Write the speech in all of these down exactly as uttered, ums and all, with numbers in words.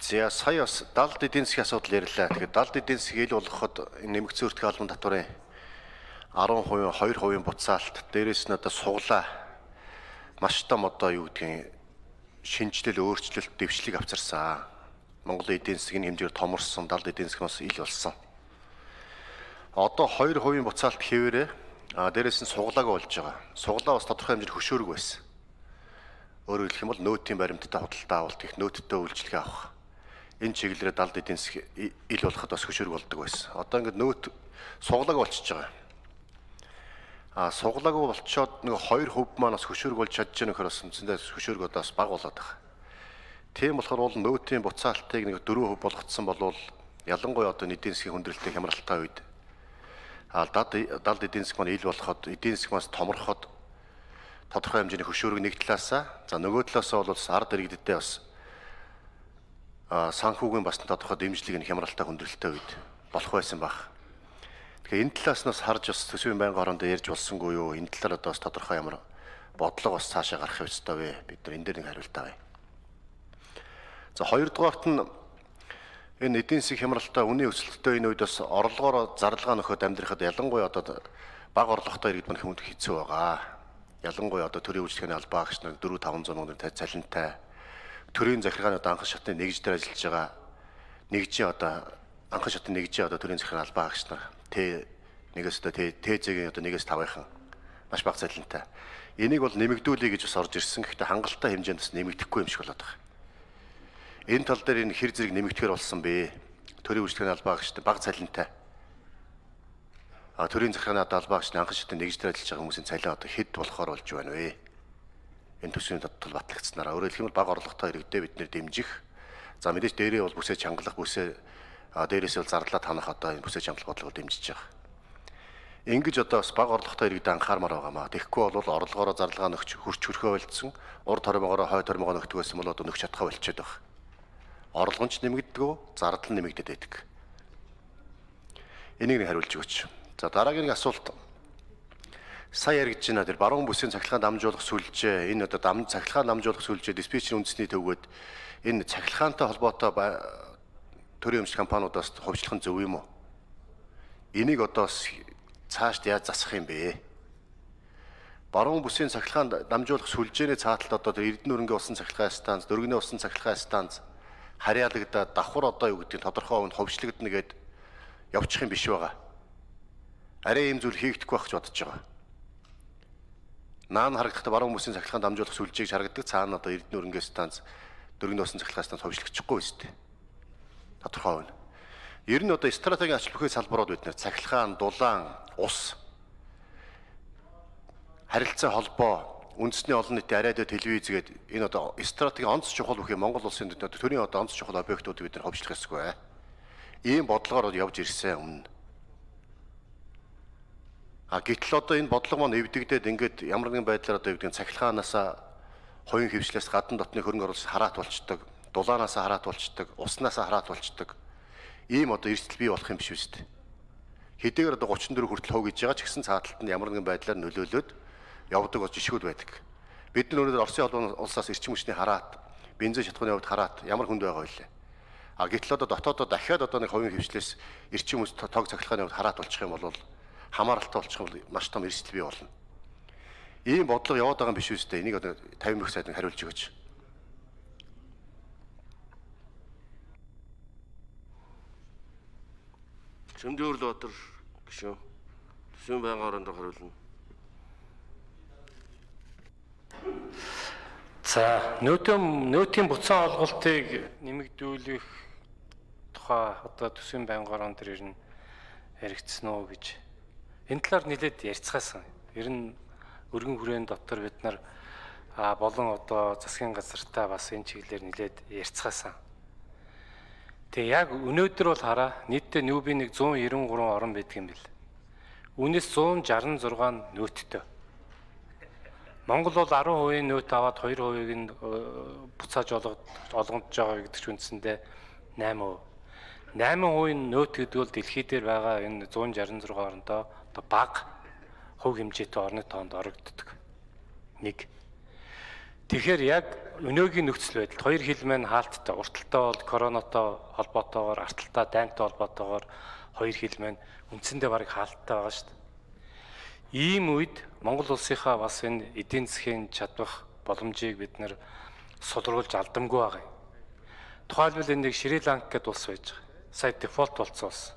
За сая бас далд эдийн засгийн асуудал ярьлаа. Тэгэхээр далд эдийн засгийг ил болгоход нэмэгдсэн өртгөө албан татварын арван хувийн хоёр хувийн буцаалт дээрээс нь одоо суглаа маш том одоо юу гэдгийг шинжилэл өөрчлөлт дэвшлиг авчирсан. Монголын эдийн засгийн хэмжээр томорсон, далд эдийн засаг бас ил болсон. Одоо хоёр хувийн буцаалт хэвээрээ а дээрээс нь суглаагаа болж байгаа. Суглаа бас тодорхой хэмжээнд хөшөөрөг байсан. Өөрөөр хэлэх юм бол нөөтийн баримттай худалдаа авалт их нөөттэй үйлчлэгээ авах. Энэ чиглэлээр далд эдийн засаг ил болоход бас хөшөөрөг болдог байсан. Одоо ингээд нөөт суглаагаа болчихж байгаа. А суглаагаа болчоод нэг хоёр хувь маань бас хөшөөрөг болж чадж байгаа нөхөр бас үндсэндээ хөшөөрөг одоо бас бага болоод байгаа. Тийм болохоор бол нөөтийн буцаалтыг нэг дөрвөн хувь болгоцсон болвол ялангуяа одоо эдийн засгийн хүндрэлтэй хямралтай үед а далд эдийн засаг маань ил болоход эдийн засаг маань томорход тодорхой хэмжээний хөшөөрөг нэг талаасаа за нөгөө талаасаа бол ард иргэдтэй бас санхүүгийн бас тодорхой дэмжлэг нь хямралтай хүндрэлтэй үед болох байсан баг. Тэгэхээр энэ талаас нь бас харж бас төсвийн байнгын хоорондоо ярьж болсонгүй юу? Энэ талаар одоо бас тодорхой ямар бодлого бас цаашаа гарах ёстой вэ? Бид нар энэ дээр нэг хариулт авъя. За хоёрдугаарт нь энэ эдийн засгийн хямралтай үнийн өсөлттэй энэ үед бас орлогоор зарлага нөхөд амьдрахад ялангуяа одоо бага орлоготой иргэд маань хүнд хэцүү байгаа. Ялангуяа одоо төрийн үйлчлэгээний албаа агч нар дөрвөн таван зуун мөнгөний цалинтай төрийн захиргааны одоо анхан шатны нэгж дээр ажиллаж байгаа нэгжийн одоо анхан шатны нэгжийн одоо төрийн захиргааны албаа агч нар Т нэгээс одоо Т-ийн одоо нэгээс тавынхан маш бага цалинтай. Энийг бол нэмэгдүүлэе гэж бас орж ирсэн. Гэхдээ хангалттай хэмжээнд бас нэмэгдэхгүй юм шиг болоод байгаа. Энэ тал дээр энэ хэр зэрэг нэмэгдэхээр болсон бэ? Төрийн үйлчлэгээний албаа агчтай бага цалинтай. А төрийн захиргааны одоо албаа агчны анхан шатны нэгж дээр ажиллаж байгаа хүмүүсийн цалин одоо хэд болохоор болж байна вэ? Энэ төсвийн тал батлагдсанараа өөрөөр хэлбэл бага орлоготой иргэдэд бид нэр дэмжих. За мэдээж дээрээ бол бүсээ чангалах бүсээ дээрээс бол зарлаад ханах одоо энэ бүсээ чангалах бодлогоор дэмжиж байгаа. Ингэж одоо бас бага орлоготой иргэдэд анхаармаар байгаа маа. Тэгэхгүй бол орлогоороо зарлага нөхч хурч хөрхөө болцсон. Ур тормоогоо хой тормоогоо нөхдөг байсан бол одоо нөхч чадхаа болчиход байгаа. Орлого нь нэмэгддэг, зардал нь нэмэгдээд байдаг. Энийг нэг хариулж өгөөч. За дараагийн нэг асуулт. Сая яригдж байна. Тэр баруун бүсийн цахилгаан дамжуулах сүлжээ, энэ одоо дам цахилгаан дамжуулах сүлжээ, диспетчерийн үндэсний төвгөд энэ цахилгаантай холбоотой төрийн өмч компаниудаас хувьчлах нь зөв юм уу? Энийг одоо цаашд яаж засах юм бэ? Баруун бүсийн цахилгаан дамжуулах сүлжээний цааталд одоо Эрдэнэ өргөний усан цахилгаан станц, Дөргөний усан цахилгаан станц харьяалагдаад давхар одоо юу гэдэг нь тодорхой хувьд хувьчлагдана гэд явчих юм биш байгаа. Арай ийм зүйл хийгдэхгүй байх гэж бодож байгаа. Наан харагдахад баруун бүсийн цахилгаан дамжуулах сүлжээг харагддаг цаана одоо Эрдэнэ өргөний станц, Дөргөний усан цахилгаан станц хувьчлагдчихгүй шүү дээ. Тодорхой хувь. Ер нь одоо стратегийн ач бүхий салбарууд бид нэр цахилгаан, дулаан, ус, харилцаа холбоо, үндэсний олон нийтийн радио, телевиз гээд энэ одоо стратегийн онц чухал бүхий Монгол улсын төрийн одоо онц чухал объектууд бид нар хувьчлах ёсгүй. Ийм бодлогоор явж ирсэн өмнө. А гэтэл одоо энэ бодлого маань эвдэгдээд ингээд ямар нэгэн байдлаар одоо юу гэдэг нь цахилгаанаас хоёрын хөвчлээс гадна дотны хөрөнгө оруулалт хараат болчдөг, дулаанаас хараат болчдөг, уснаас хараат болчдөг. Ийм одоо эрсдэл бий болох юм биш үст. Хэдийгээр одоо гучин дөрөв хүртэл хөө гэж байгаа ч гэсэн цааталт нь ямар нэгэн байдлаар нөлөөлөд явдаг бол жишгүүд байдаг. Бид нар өнөөдөр Оросын холбооны улсаас эрчим хүчний хараат, бензин шатхууны хувьд хараат ямар хүнд байгаа вэ? А гэтэл одоо дотоодоо дахиад одоо нэг хувийн хөвчлээс эрчим хүч тог цахилгааны хувьд хараат болчих юм бол хамааралтай болчих юм бол маш том эрсдэл бий болно. Ийм бодлого яваад байгаа юм биш үстэй. Энийг одоо тавин мөрх сайд нь хариулж өгөөч. Чөмдөөрлөтөр гişүн. Төсвийн байнгын хоорондоо хариулна. За, нөөтийн нөөтийн буцаан олголтыг нэмэгдүүлэх тухай одоо төсвийн байнгын хорон дээр ирнэ яригдсан уу гэж энэ талаар нэлээд ярьцгаасан. Ер нь өргөн хүрээний дотор бид нар болон одоо засгийн газартаа бас энэ чиглэлээр нэлээд ярьцгаасан. Тэгээ яг өнөөдөр бол хараа нийтдээ нүүби нэг зуун девяносто три орон байдаг юм бэл. Үүнээс зуун шестьдесят шесть нөөттэй. Монгол бол ten хувийн нөөт аваад two хувийг нь буцааж олгондж байгаа гэдэг ч үндсэндээ eight percent. eight хувийн нөөт гэдэг бол дэлхий дээр байгаа энэ one sixty-six орондоо одоо бага хувь хэмжээтэй орны тоонд орогддог. Нэг. Тэгэхээр яг өнөөгийн нөхцөл байдалд хоёр хил маань хаалттай. Урталтай бол коронавитой холбоотойгоор, арталтай дайнтай холбоотойгоор хоёр хил маань үндсэндээ бараг хаалттай байгаа шүү дээ. Ийм үед Монгол улсынхаа бас энэ эдийн засгийн чадвах боломжийг бид нэр сулруулж алдамгүй байгаа юм. Тухайлбал энэ нэг Шри-Ланк гэдэг улс байж байгаа. Сая дефолт болсон улс.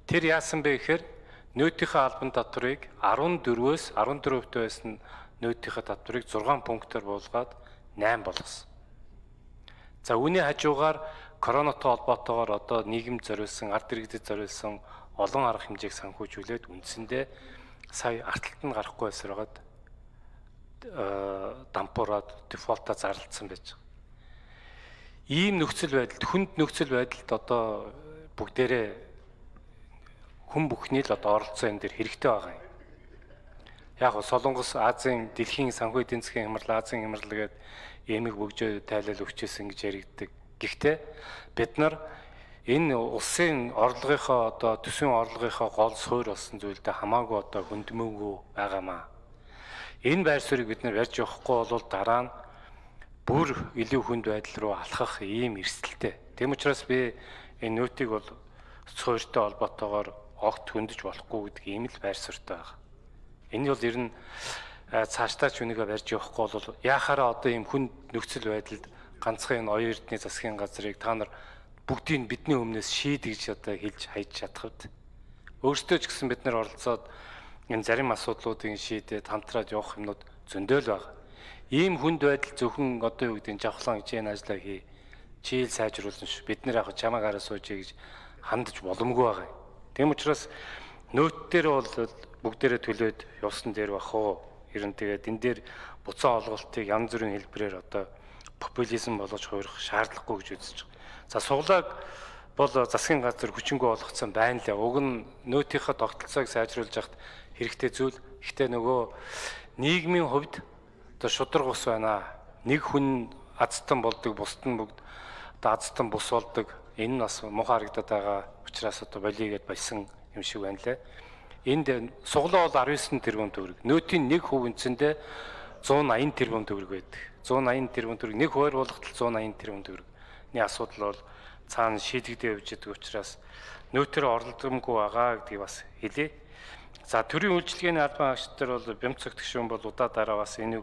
Тэр яасан бэ гэхээр нөөтийнхээ албан татварыг арван дөрвөөс арван дөрвө хувь байсан нөөтийнхээ татварыг зургаан пунктаар буулгаад найман болгосон. За үүний хажуугаар коронавитой холбоотойгоор одоо нийгэм зориулсан, ард иргэдэд зориулсан олон арга хэмжээг санхүүжүүлээд үндсэндээ сая арталт нь гарахгүй байсараад дампуураад дефолтоо зарлцсан байж байгаа. Ийм нөхцөл байдалд, хүнд нөхцөл байдалд одоо бүгдээрээ хүн бүхний л одоо оролцоо энэ дэр хэрэгтэй байгаа юм. Яг нь Солонгос Азийн дэлхийн санхүү эдийн засгийн хямрал, Азийн хямрал гээд эмэг бөгжөө тайлал өгчээсэн гэж яригддаг. Гэхдээ бид нар энэ улсын орлогынхоо одоо төсвийн орлогынхоо гол суурь болсон зүйлдээ хамаагүй одоо хөндмөөгүй байгаамаа. Энэ байр суурийг бид нар барьж явахгүй бол дараа нь бүр илүү хүнд байдал руу алхах ийм эрсдэлтэй. Тэм учраас би энэ нөөтийг бол суурьтай холбоотойгоор огт хөндөж болохгүй гэдэг ийм л байр суурьтай байгаа. Энэ бол ер нь цаашдаа ч үнийгээ барьж явахгүй бол яхаараа одоо ийм хүнд нөхцөл байдалд ганцхан энэ оюун эрдэнэ засгийн газрыг та нар бүгдийг бидний өмнөөс шийдэж одоо хэлж хайж чадах үед өөрсдөө ч гэсэн бид нар оролцоод энэ зарим асуудлуудыг шийдээд хамтраад явах юмнууд зөндөөл байгаа. Ийм хүнд байдал зөвхөн одоо юу гэдэг нь жавхлан хичээн ажиллаа хий, чийл сайжруулсан ш. Бид нэр яг чамаагаар суужээ гэж хандаж боломгүй байгаа. Тэм учраас нөөт дээр бол бүгдээрээ төлөөд явсан дээр бах уу. Ер нь тэгээд энэ дээр буцаан олголтыг янз бүрийн хэлбэрээр одоо популизм болгож хуурах шаардлагагүй гэж үзэж байгаа. За суглааг бол засгийн газар хүчингү болгоцсон байна лээ. Уг нь нөөтийнхөө тогтолцоог сайжруулж яхад хэрэгтэй зүйл. Гэхдээ нөгөө нийгмийн хувьд одоо шудраг ус байна. Нэг хүн азтан болдог, бусд нь бүгд одоо азтан бус болдог. Энэ нь бас муухай харагдаад байгаа учраас одоо болигээд байсан юм шиг байна лээ. Энд суглаа бол арван девять тэрбум төгрөг. Нөөтийн нэг хувь үндсэндээ зуун аян тэрбум төгрөг байдаг. зуун аян тэрбум төгрөг нэг хувиар болгоход зуун аян тэрбум төгрөгний асуудал бол цаана шийдэгдээ явж байгаа учраас нөөтөр оролдомгүй байгаа гэдгийг бас хэлье. За төрийн үйлчилгээний албан хаагчдаар бол Бямцаг гишүүн бол удаа дараа бас энийг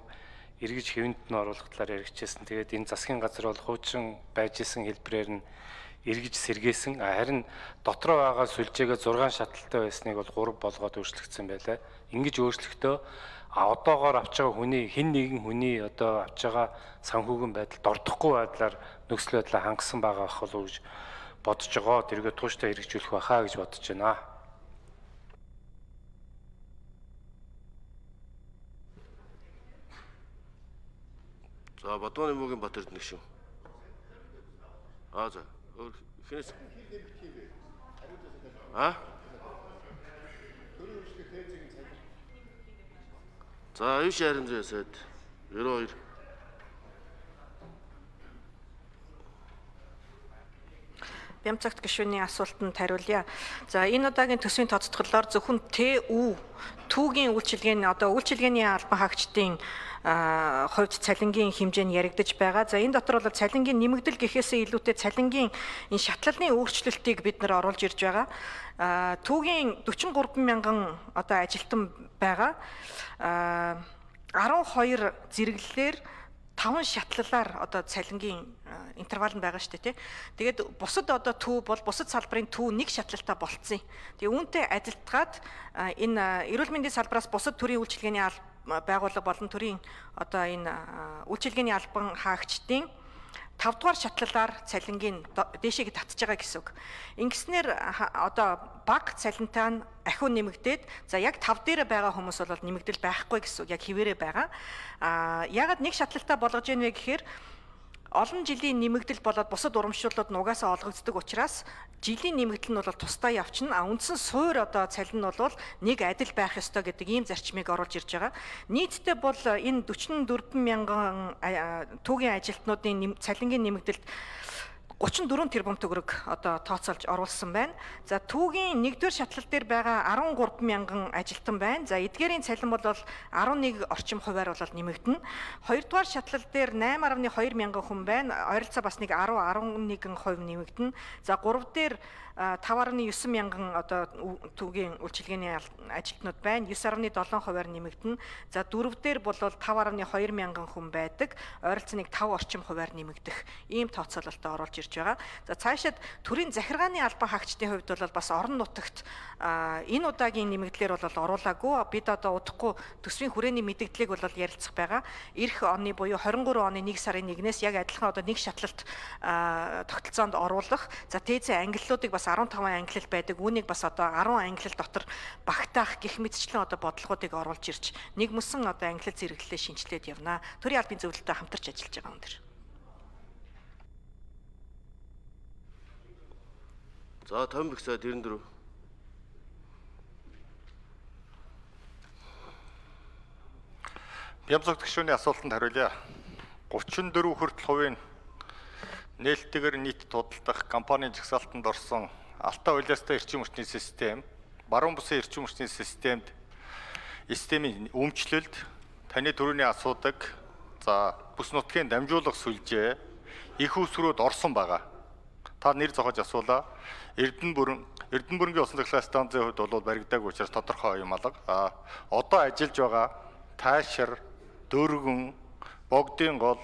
эргэж хэвэнд нь оруулах талаар яригчээсэн. Тэгээд энэ засгийн газар бол хуучин байж исэн хэлбэрээр нь эргэж сэргээсэн. Харин дотроо байгаа сүлжээгээ зургаан шаталтай байсныг бол гурав болгоод өөрчлөгдсөн байлаа. Ингэж өөрчлөхдөө а одоогоор авч байгаа хүний хэн нэгэн хүний одоо авч байгаа санхүүгийн байдалд ордохгүй байдлаар нөхцөл байдлаа хангасан байгаа ах болов гэж бодож байгаа. Тэргээ тууштай хэрэгжүүлэх байхаа гэж бодож байна. За Бадууны мөгийн Батэрд нэг шүү. Аа за. Хинээс. А? За аюу шарын зэсэд девяносто два. Бямцагт гишүүний асуултанд хариулъя. За энэ удаагийн төсвийн тооцоололоор зөвхөн Т Ү түүгийн үйлчилгээний одоо үйлчилгээний албан хаагчдын хувьд цалингийн хэмжээ нь яригдж байгаа. За энэ дотор бол цалингийн нэмэгдэл гэхээсээ илүүтэй цалингийн энэ шатлалны өөрчлөлтийг бид нар оруулж ирж байгаа. Түүгийн дөрвөн гурван мянган одоо ажилтан байгаа. арван хоёр зэрэглэлээр таван шатлалаар одоо цалингийн интервал нь байгаа шүү дээ тий. Тэгээд бусад одоо төв бол бусад салбарын төв нэг шатлалтаа болцсон. Тэгээ үүнтэй адилтгаад энэ эрүүл мэндийн салбараас бусад төрийн үйлчилгээний байгууллага болон төрийн одоо энэ үйлчилгээний албан хаагчдын тав дугаар шатлалаар цалингийн дээшээ татж байгаа гэсэн үг. Ингэснээр одоо бага цалинтай нь ахиу нэмэгдээд за яг тав дээр байгаа хүмүүс бол нэмэгдэл байхгүй гэсэн үг, яг хിവэрэ байгаа. А ягаад нэг шатлалтаа болгож ийнэ вэ гэхээр олон жилийн нэмэгдэл болоод бусад урамшууллууд нугасаа олгогддог учраас жилийн нэмэгдэл нь бол тусдаа явчихна. А үндсэн суур одоо цалин нь бол нэг адил байх ёстой гэдэг ийм зарчмыг оруулж ирж байгаа. Нийтдээ бол энэ дөрвөн мянган түүгийн ажилтнуудын цалингийн нэмэгдэлд гучин дөрвөн тэрбум төгрөг одоо тооцоолж оруулсан байна. За түүгийн нэгдүгээр шатлал дээр байгаа арван гурван мянган ажилтан байна. За эдгээрийн цалин бол арван нэг орчим хувиар бол нэмэгдэнэ. Хоёрдугаар шатлал дээр найман гаруй хоёр мянган хүн байна. Ойролцоо бас нэг арван арван нэгэн хувь нэмэгдэнэ. За гурав дээр таван гаруй девять мянган одоо түүгийн үйлчилгээний ажилтнууд байна. девять гаруй долоо хувиар нэмэгдэнэ. За дөрөв дээр бол таван гаруй хоёр мянган хүн байдаг. Ойролцоо нэг таван орчим хувиар нэмэгдэх ийм тооцоололтоо оруулж ирж байгаа. За цаашид төрийн захиргааны албан хаагчдын хувьд бол бас орон нутагт энэ удаагийн нэмэгдлэр бол оруулаагүй. Бид одоо удахгүй төсвийн хүрээний мэдээллийг бол ярилцах байгаа. Ирэх оны буюу двадцать три оны нэг сарын нэгнээс яг адилхан одоо нэг шатлалт тогтолцоонд оруулах. За тээзээ ангиллуудыг бас арван таван ангилал байдаг. Үүнийг бас одоо арван ангилал дотор багтаах гэх мэтчлэн одоо бодлогоодыг оруулж ирж нэг мөсөн одоо ангилал зэрэглэлээ шинжилээд явна. Төрийн албан зөвлөлтөд хамтарч ажиллаж байгаа юм дэр. За тавин бэгсаа дөрвөн дөрөв. Бямцаг гишүүний асуултанд хариулъя. гучин дөрвөн хүртэл хувийн нээлттэйгээр нийт тудалдах компанийн жагсаалтанд орсон Алтай улаастай эрчим хүчний систем, баруун бусын эрчим хүчний системд системийн өмчлөлд таны төрөний асуудаг, за бүс нутгийн дамжуулах сүлжээ их усрууд орсон байгаа. Та нэр зохиож асуулаа. Эрдэнэ бүрэн Эрдэнэ бүрэнгийн усан цахилгаан станцын хувьд бол баригдаагүй учраас тодорхой юм алга. А одоо ажиллаж байгаа Таашир, Дөргөн, Богдын гол,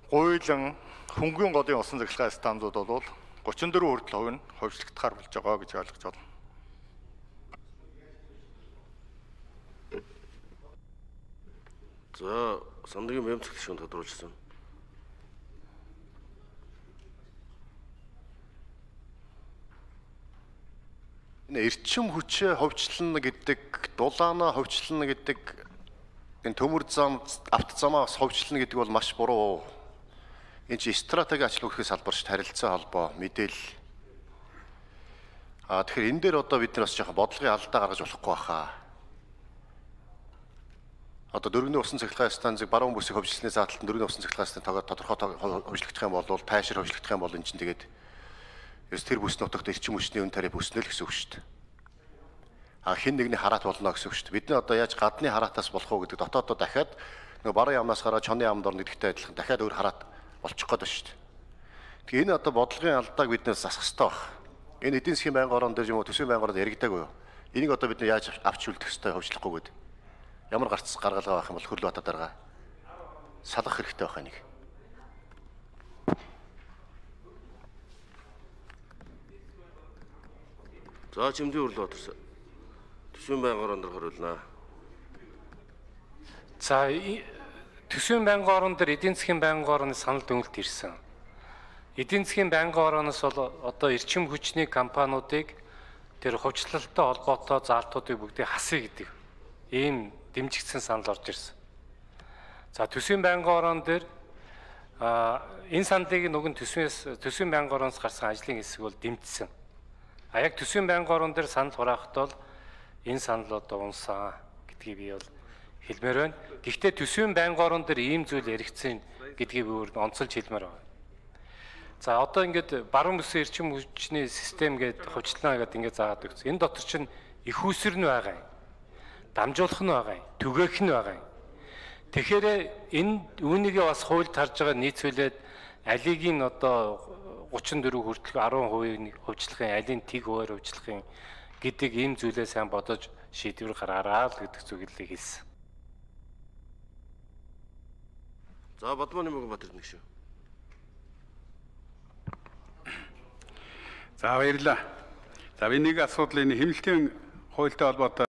Гуйлан, Хөнгөн голын усан цахилгаан станцууд бол гучин дөрвөн хүртэл хувь нь хувьчлагдахаар болж байгаа гэж ойлгож байна. За Самдгийн Бямцаг гишүүнд тодруулсан. Энэ эрчим хүчээ ховчлно гэдэг, дулаанаа ховчлно гэдэг, энэ төмөр зам, авто замаа ховчлно гэдэг бол маш буруу. Энэ чи стратеги ачлал үүрхээс салбарч харилцаа холбоо, мэдээлэл. Аа тэгэхээр энэ дээр одоо бид нар бас жоохон бодлогын алдаа гаргаж болохгүй баха. Одоо дөрвөн усан цахилгаан станцыг баруун бүсийг ховчлсны заалтанд дөрвөн усан цахилгаан станцыг тодорхой ховчлогдох юм бол тайшир ховчлогдох юм бол энэ чинь тэгээд ерөөс тэр бүс нутагт эрчим хүчний үн тариа бүснэ л гэсэн үг шүү дээ. А хин нэгний хараат болно гэсэн үг шүү дээ. Бид нар одоо яаж гадны хараатаас болох уу гэдэг дотоодоо дахиад нөгөө баруун ямнаас гараад чоны ямд орно гэдэгтэй адилхан дахиад өөр хараат болчих гээд байна шүү дээ. Тэгээ энэ одоо бодлогын алдааг бид нэр засах хэрэгтэй баг. Энэ эдийн засгийн байнгын орон дээр юм уу төсвийн байнгын оронд яригдаагүй юу? Энийг одоо бид нар яаж авч үлдэх хэрэгтэй хөвчлөхгүй гээд. Ямар гарц гаргалгаа байх юм бол Хөрлөбат дарга салах хэрэгтэй байх энийг. За Чимдийн Хөрлөбат төсвийн байнгын орон дээр хариулнаа. За төсвийн байнгын орон дээр эдийн засгийн байнгын орны санал дүгнэлт ирсэн. Эдийн засгийн байнгын ороноос бол одоо эрчим хүчний компаниудыг тэр хувьчлалтай холбоотой заалтуудыг бүгдийг хасъя гэдэг ийм дэмжигдсэн санал орж ирсэн. За төсвийн байнгын орон дээр энэ саналыг нөгөө төсвөөс төсвийн байнгын ороноос гарсан ажлын хэсэг бол дэмжсэн. А яг төсвийн байнгын орон дээр санал хураахад бол энэ санал одоо унсан гэдгийг би бол хэлмээр байна. Гэхдээ төсвийн байнгын орон дээр ийм зүйл яригдсан гэдгийг би өөр онцолж хэлмээр байна. За одоо ингээд баруун бүсийн эрчим хүчний систем гэдэг хувьчлаа гэдэг ингээд заагаад өгсөн. Энэ дотор чинь их усэр нь байгаа юм. Дамжуулах нь байгаа юм. Түгээх нь байгаа юм. Тэгэхээр энэ үүнийгээ бас хуульд харж байгаа нийцүүлээд алиг нь одоо гучин дөрөв хүртэл арван хувийн хувьчлахын алийг тэг хуваар хувьчлахын гэдэг ийм зүйлээ сайн бодож шийдвэр гаргаараа л гэдэг зүйлийг хэлсэн. За Бадманы Мөгөнбаатар нэг шүү. За баярлалаа. За би нэг асуудал энэ хэмнэлтийн хуультай холбоотой